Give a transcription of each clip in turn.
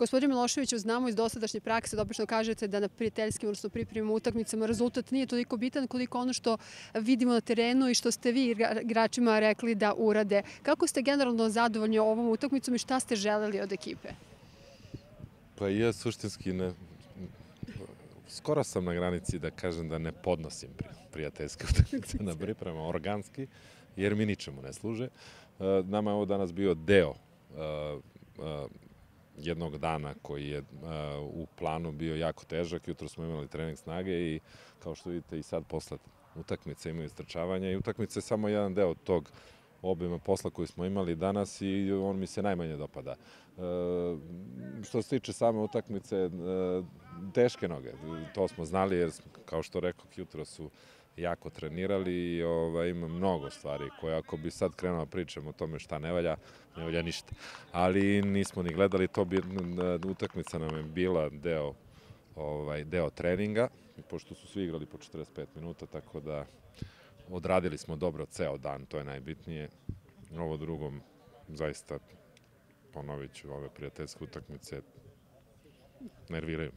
Gospodin Miloševiću, znamo iz dosadašnje prakse da obično kažete da na prijateljskim, odnosno pripremnim utakmicama rezultat nije toliko bitan koliko ono što vidimo na terenu i što ste vi igračima rekli da urade. Kako ste generalno zadovoljni ovom utakmicom i šta ste želeli od ekipe? Pa ja suštinski skoro sam na granici da kažem da ne podnosim prijateljske utakmice na priprema organski, jer mi ničemu ne služe. Nama je ovo danas bio deo jednog dana koji je u planu bio jako težak. Jutro smo imali trening snage i kao što vidite i sad posle utakmice imaju istrčavanja i utakmice je samo jedan deo tog obima posla koji smo imali danas i on mi se najmanje dopada. Što se tiče same utakmice, teške noge, to smo znali jer, kao što rekao, jutro su jako trenirali i ima mnogo stvari koje ako bi sad krenuo pričamo o tome šta ne valja ništa. Ali nismo ni gledali, utakmica nam je bila deo treninga, pošto su svi igrali po 45 minuta, tako da odradili smo dobro ceo dan, to je najbitnije. Ovo drugom, zaista, ponovit ću, ove prijateljske utakmice nerviraju.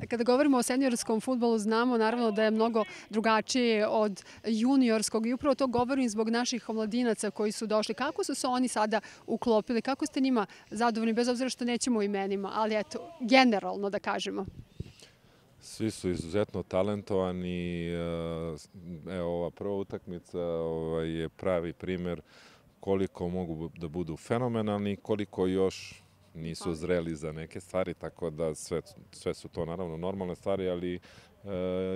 Kada govorimo o seniorskom fudbalu, znamo naravno da je mnogo drugačije od juniorskog i upravo to govorim zbog naših omladinaca koji su došli. Kako su se oni sada uklopili? Kako ste njima zadovoljni, bez obzira što nećemo o imenima, ali eto, generalno da kažemo? Svi su izuzetno talentovani. Evo, ova prva utakmica je pravi primer koliko mogu da budu fenomenalni, koliko još nisu zreli za neke stvari, tako da sve su to naravno normalne stvari, ali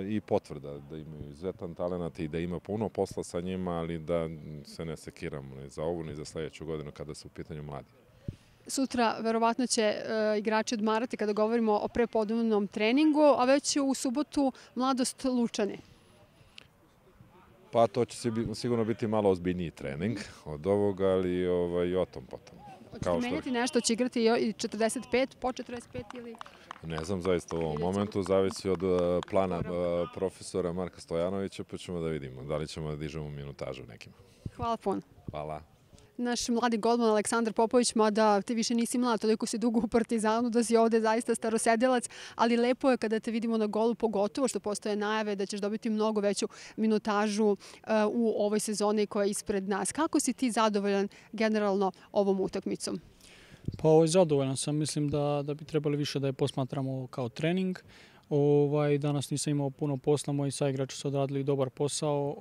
i potvrda da imaju izuzetan talent i da ima puno posla sa njima, ali da se ne sekiramo ni za ovu ni za sledeću godinu kada su u pitanju mladi. Sutra verovatno će igrači odmarati kada govorimo o prepodnevnom treningu, a već u subotu Mladost Lučani. Pa to će sigurno biti malo ozbiljniji trening od ovoga, ali i o tom potom. Hoćete menjati nešto, će igrati i 45, po 45 ili? Ne znam, zaista u ovom momentu zavisi od plana profesora Marka Stojanovića, pa ćemo da vidimo da li ćemo da dižemo minutažu nekima. Hvala puno. Hvala. Naš mladi golman Aleksandar Popović, mada ti više nisi mlad, toliko si dugo u Partizanu da si ovde zaista starosedilac, ali lepo je kada te vidimo na golu, pogotovo što postoje najave da ćeš dobiti mnogo veću minutažu u ovoj sezoni koja je ispred nas. Kako si ti zadovoljan generalno ovom utakmicom? Pa zadovoljan sam, mislim da bi trebali više da je posmatramo kao trening. Danas nisam imao puno posla, moji saigrači su odradili dobar posao,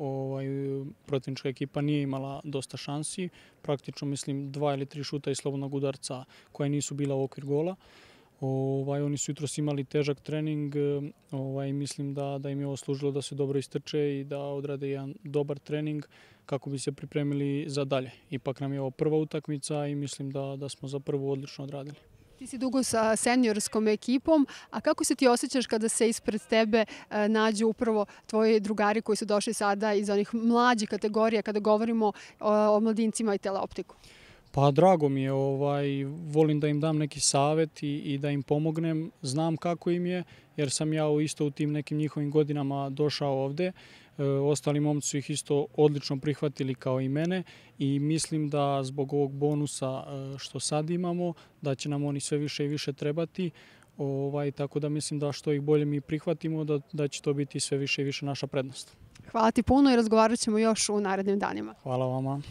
protivnička ekipa nije imala dosta šansi, praktično mislim 2 ili 3 šuta iz slobodnog udarca koje nisu bila u okvir gola. Oni su jutros imali težak trening, mislim da im je ovo služilo da se dobro istrče i da odrade jedan dobar trening kako bi se pripremili za dalje. Ipak nam je ovo prva utakmica i mislim da smo za prvu odlično odradili. Ti si dugo sa seniorskom ekipom, a kako se ti osjećaš kada se ispred tebe nađu upravo tvoji drugari koji su došli sada iz onih mlađih kategorija kada govorimo o mladincima i teleoptiku? Pa drago mi je, volim da im dam neki savjet i da im pomognem. Znam kako im je, jer sam ja isto u tim nekim njihovim godinama došao ovde. Ostali momci su ih isto odlično prihvatili kao i mene i mislim da zbog ovog bonusa što sad imamo, da će nam oni sve više i više trebati. Tako da mislim da što ih bolje mi prihvatimo, da će to biti sve više i više naša prednost. Hvala ti puno i razgovarat ćemo još u narednim danima. Hvala vama.